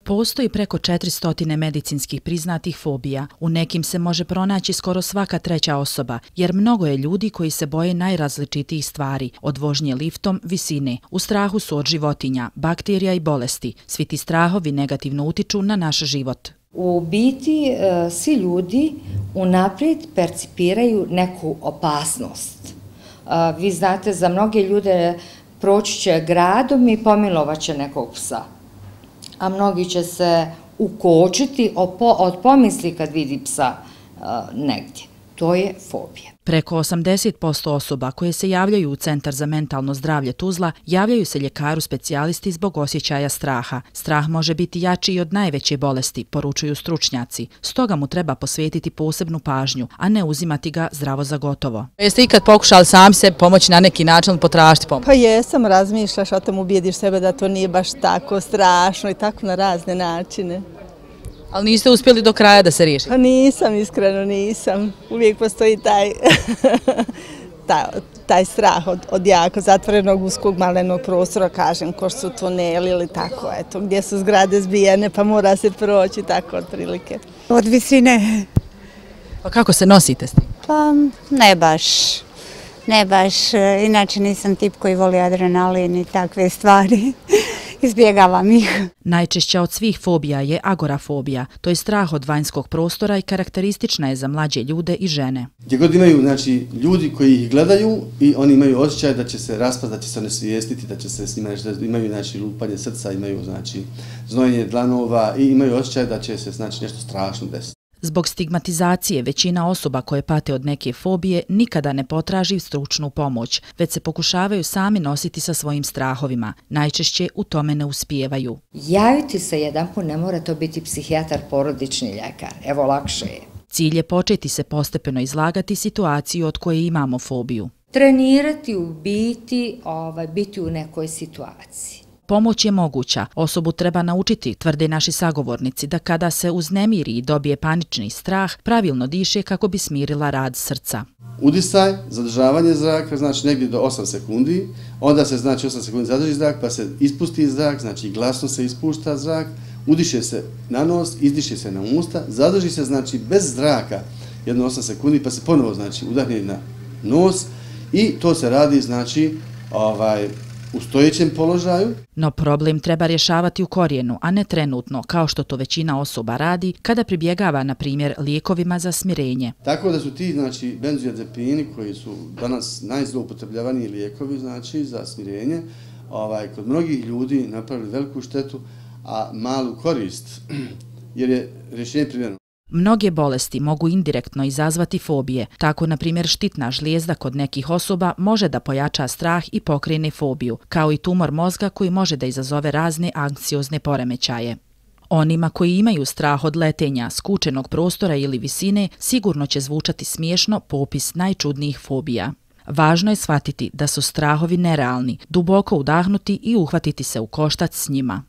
Postoji preko 400 medicinskih priznatih fobija. U nekim se može pronaći skoro svaka treća osoba, jer mnogo je ljudi koji se boje najrazličitijih stvari, od vožnje liftom, visine. U strahu su od životinja, bakterija i bolesti. Svi ti strahovi negativno utiču na naš život. U biti, svi ljudi unaprijed percipiraju neku opasnost. Vi znate, za mnoge ljude proći će gradom i pomilovat će nekog psa, a mnogi će se ukočiti od pomisli kad vidi psa negdje. To je fobija. Preko 80% osoba koje se javljaju u Centar za mentalno zdravlje Tuzla javljaju se ljekaru specijalisti zbog osjećaja straha. Strah može biti jači i od najveće bolesti, poručuju stručnjaci. Stoga mu treba posvetiti posebnu pažnju, a ne uzimati ga zdravo za gotovo. Jeste ikad pokušali sami se pomoći na neki način, potražiti pomoć? Pa jesam, razmišljaš, o tom ubijediš sebe da to nije baš tako strašno i tako na razne načine. Ali niste uspjeli do kraja da se riješi? Pa nisam, iskreno nisam. Uvijek postoji taj strah od jako zatvorenog uskog malenog prostora, kažem, ko što su tuneli ili tako, eto, gdje su zgrade zbijene pa mora se proći, tako otprilike. Od visine. Pa kako se nosite s tim? Pa ne baš, inače nisam tip koji voli adrenalin i takve stvari. Izbjegavam ih. Najčešća od svih fobija je agorafobija, to je strah od vanjskog prostora i karakteristična je za mlađe ljude i žene. Gdje god imaju ljudi koji ih gledaju i oni imaju osjećaj da će se raspast, da će se onesvijestiti, da će se s njima imaju lupanje srca, imaju znojenje dlanova i imaju osjećaj da će se nešto strašno desiti. Zbog stigmatizacije većina osoba koje pate od neke fobije nikada ne potraži stručnu pomoć, već se pokušavaju sami nositi sa svojim strahovima. Najčešće u tome ne uspijevaju. Javiti se jedanput, ne mora to biti psihijatar, porodični ljekar. Evo, lakše je. Cilj je početi se postepeno izlagati situaciju od koje imamo fobiju. Trenirati u biti u nekoj situaciji. Pomoć je moguća. Osobu treba naučiti, tvrde naši sagovornici, da kada se uznemiri i dobije panični strah, pravilno diše kako bi smirila rad srca. Udisaj, zadržavanje zraka, znači negdje do 8 sekundi, onda se 8 sekundi zadrži zrak, pa se ispusti zrak, znači glasno se ispušta zrak, udiše se na nos, izdiše se na usta, zadrži se bez zraka jedno 8 sekundi, pa se ponovo udahne na nos i to se radi u stojećem položaju. No problem treba rješavati u korijenu, a ne trenutno, kao što to većina osoba radi kada pribjegava, na primjer, lijekovima za smirenje. Tako da su ti benzodiazepini koji su danas najzloupotrebljavaniji lijekovi za smirenje, kod mnogih ljudi napravili veliku štetu, a malu korist, jer je rješenje primjereno. Mnoge bolesti mogu indirektno izazvati fobije. Tako, na primjer, štitna žlijezda kod nekih osoba može da pojača strah i pokrene fobiju, kao i tumor mozga koji može da izazove razne anksiozne poremećaje. Onima koji imaju strah od letenja, skučenog prostora ili visine, sigurno će zvučati smiješno popis najčudnijih fobija. Važno je shvatiti da su strahovi nerealni, duboko udahnuti i uhvatiti se u koštac s njima.